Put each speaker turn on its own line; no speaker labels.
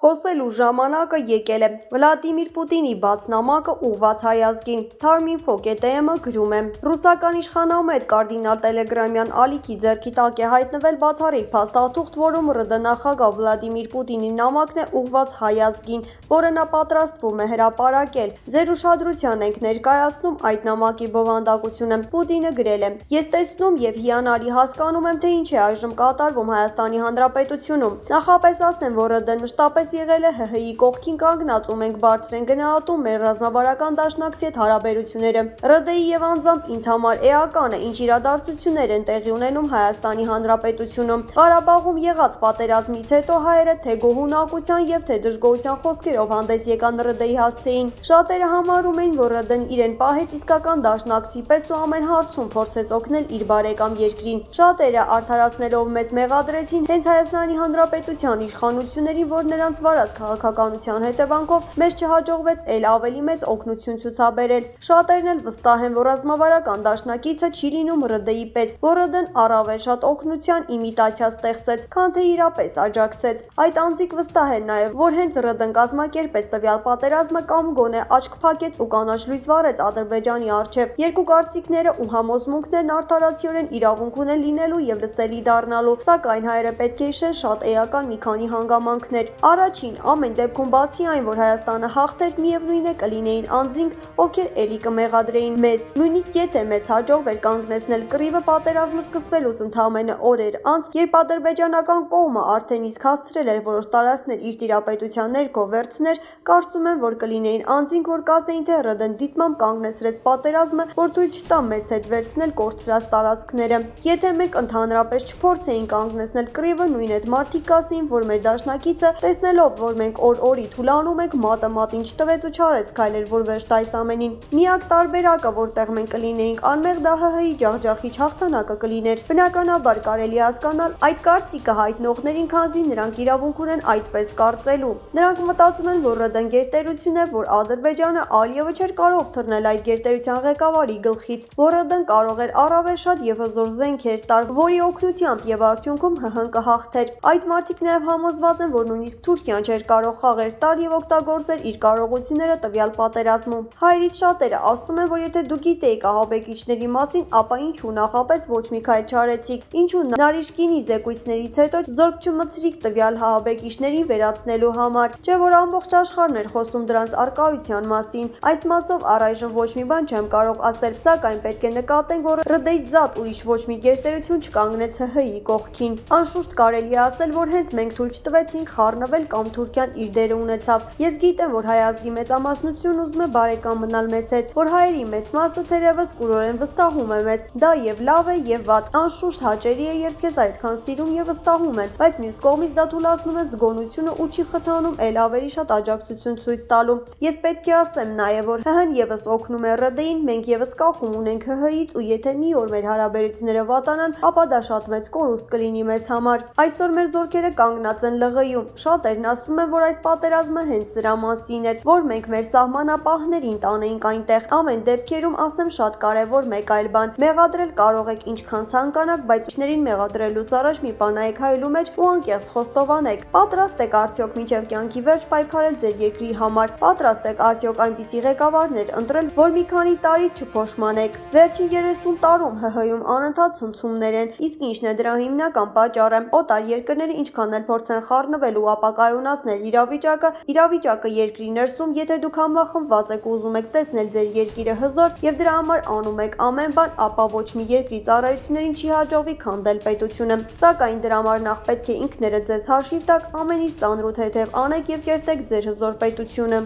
Խոսելու ժամանակը եկել է։ Վլադիմիր Պուտինի բաց նամակը ուղղված հայ ազգին։ Թարմինֆո ԿՏՄ գրում է. Ռուսական իշխանամետ կարդինալ Տելեգրամյան ալիքի ձեռքի տակ է հայտնվել բացառիկ փաստաթուղթ, որում ՌԴ նախագահ Վլադիմիր Պուտինի նամակն է ուղղված հայ ազգին, որը նա պատրաստվում է հրապարակել։ Ձեր ուշադրության ենք ներկայացնում այդ նամակի բովանդակությունը։ Պուտինը գրել է. Ես տեսնում եւ հիանալի հասկանում եմ, թե ինչ է այժմ կատարվում Հայաստանի Հանրապետությունում։ Նախապես ասեմ, որ ՌԴ-ն մշտապես եղել է ՀՀ-ի կողքին կանգնած ու մենք բարձր ենք գնահատում մեր ռազմավարական դաշնակցի հետ հարաբերությունները։ ՌԴ-ի եւ անձամբ ինձ համար էական է, ինչ իրադարձություններ են տեղի ունենում Հայաստանի Հանրապետությունում։ Ղարաբաղում եղած պատերազմից հետո հայերը թե գոհունակության եւ թե դժգոհության խոսքերով հանդես եկան ՌԴ-ի հասցեին։ Շատերը համարում էին, որ ՌԴ-ն իրեն պահեց իսկական դաշնակցի պես ու ամեն հարցում փորձեց օգնել իր բարեկամ երկրին։ Շատերը արդարացնելով մեզ մեղադրեցին հենց Հայաստանի Հանրապետության իշխանություններին, որ նրանց վարած քաղաքականության հետևանքով մեզ չհաջողվեց էլ ավելի մեծ օգնություն ցուցաբերել։ Շատերն էլ վստահ են, որ ռազմավարական դաշնակիցը չի լինում ՌԴ-ի պես, որ ՌԴ-ն առավել շատ օգնության իմիտացիա ստեղծեց, քան թե իրապես աջակցեց։ Այդ անձիկ վստահ են նաև, որ հենց ՌԴ-ն կազմակերպեց տվյալ պատերազմը կամ գոնե աչք փակեց ու կանաչ լույս վառեց Ադրբեջանի առջև։ Երկու կարծիքները ու համոզմունքներն արդարացիորեն իրավունք ունեն լինելու եւ լսելի դառնալու, սակայն հայերը պետք է հիշեն շատ էական մի քանի հանգամանքներ։ Առաջին, ամեն դեպքում բացի այն, որ Հայաստանը հաղթեր, միևնույն է կլինեին անձինք, ովքեր էլի կմեղադրեին մեզ։ Նույնիսկ եթե մեզ հաջողվեր կանգնեցնել կռիվը, պատերազմը սկսվելուց ընդամենը օրեր անց, երբ ադրբեջանական կողմը արդեն իսկ հասցրել էր որոշ տարածքներ իր տիրապետության ներքո վերցներ, կարծում եմ, որ կլինեին անձինք, որ կասեին, թե ՌԴ-ն դիտմամբ կանգնեցրեց պատերազմը, որ թույլ չտա մեզ հետ վերցնել կորցրած տարածքները։ Եթե մենք ընդհանրապես չփորձեին կանգնեցնել կռիվը, նույն այդ մարդիկ կասեին, որ մեր դաշնակիցը տեսնելով, որ մենք օր-օրի թուլանում ենք, մատը մատին չտվեց ու չարեց քայլեր, որ վերջ տա այս ամենին։ Միակ տարբերակը, որտեղ մենք կլինեինք անմեղ, դա ՀՀ-ի ջախջախիչ հաղթանակը կլիներ։ Բնականաբար կարելի է հասկանալ այդ կարծիքը հայտնողներին, քանզի նրանք իրավունք ունեն այդպես կարծելու։ Նրանք մտածում են, որ ՌԴ-ն գերտերություն է, որ Ադրբեջանը Ալիևը չէր կարող թռնել այդ գերտերության ղեկավարի գլխից, որ ՌԴ-ն կարող էր առավել շատ եւ հզոր զենքեր տալ, որի օգնությամբ եւ արդյունքում ՀՀ-ն կհաղթեր։ Այդ մարդիկ նաեւ համոզված են, որ նույնիսկ Թուրքիան չէր կարող խաղեր տալ եւ օգտագործել իր կարողությունները տվյալ պատերազմում։ Հայերից շատերը ասում են, որ եթե դուք գիտեիք ահաբեկիչների մասին, ապա ինչու նախապես ոչ մի քայլ չարեցիք, ինչու Նարիշկինի զեկույցներից հետո զորք չմցրիք տվյալ ահաբեկիչներին վերացնելու համար, չէ՞ որ ամբողջ աշխարհն էր խոսում դրանց առկայության մասին։ Այս մասով առայժմ ոչ մի բան չեմ կարող ասել, սակայն պետք է նկատենք, որ ՌԴ-ից զատ ուրիշ ոչ մի գերտերություն չկանգնեց ՀՀ-ի կողքին։ Անշուշտ կարելի է ասել, որ հենց մենք թույլ չտվեցինք խառնվել կամ Թուրքիան իր դերը ունեցավ։ Ես գիտեմ, որ հայ ազգի մեծամասնությունն ուզում է բարեկամ մնալ մեզ հետ, որ հայերի մեծ մասը թերևս կուրորեն վստահում է մեզ։ Դա եւ լավ է եւ վատ։ Անշուշտ հաճելի է, երբ քեզ այդքան սիրում եւ վստահում են, բայց մյուս կողմից դա թուլացնում է զգոնությունը ու չի խթանում էլ ավելի շատ աջակցություն ցույց տալու։ Ես պետք է ասեմ նաեւ, որ ՀՀ-ն եւս օգնում է ՌԴ-ին, մենք եւս կախում ունենք ՀՀ-ից ու եթե մի օր մեր հարաբերությունները վատանան, ապա դա շատ մեծ կորուստ կլինի մեզ համար։ Այսօր մեր զորքերը կանգնած են ԼՂ-ում։ Շատերն ասում են, որ այս պատերազմը հենց սրա մասին էր, որ մենք մեր սահմանապահներին տանեինք այնտեղ։ Ամեն դեպքերում ասեմ շատ կարևոր մեկ այլ բան։ Մեղադրել կարող եք ինչքան ցանկանաք, բայց ուսներին մեղադրելուց առաջ մի բան նայեք հայելու մեջ ու անկեղծ խոստովանեք։ Պատրաստ եք արդյոք մինչև կյանքի վերջ պայքարել ձեր երկրի համար։ Պատրաստ եք արդյոք այնպիսի ղեկավարներ ընտրել, որ մի քանի տարի չփոշմանեք։ Վերջին 30 տարում ՀՀ-ում անընդհատ ցնցումներ են, իսկ ինչն է դրա հիմնական պատճառը։ Օտար երկրները ինչքան էլ փորձեն խառնվել ու ապակայունացնել իրավիճակը երկրի ներսում, եթե դուք համախմբված եք ու ուզում եք տեսնել ձեր երկիրը հզոր եւ դրա համար անում եք ամեն բան, ապա ոչ մի երկրի ծառայություններին չի հաջողվի քանդել պետությունը։ Սակայն դրա համար նախ պետք է ինքներդ ձեզ հաշիվ տաք, ամեն ինչ ծանրութ հետև անեք եւ կերտեք ձեր հզոր պետությունը։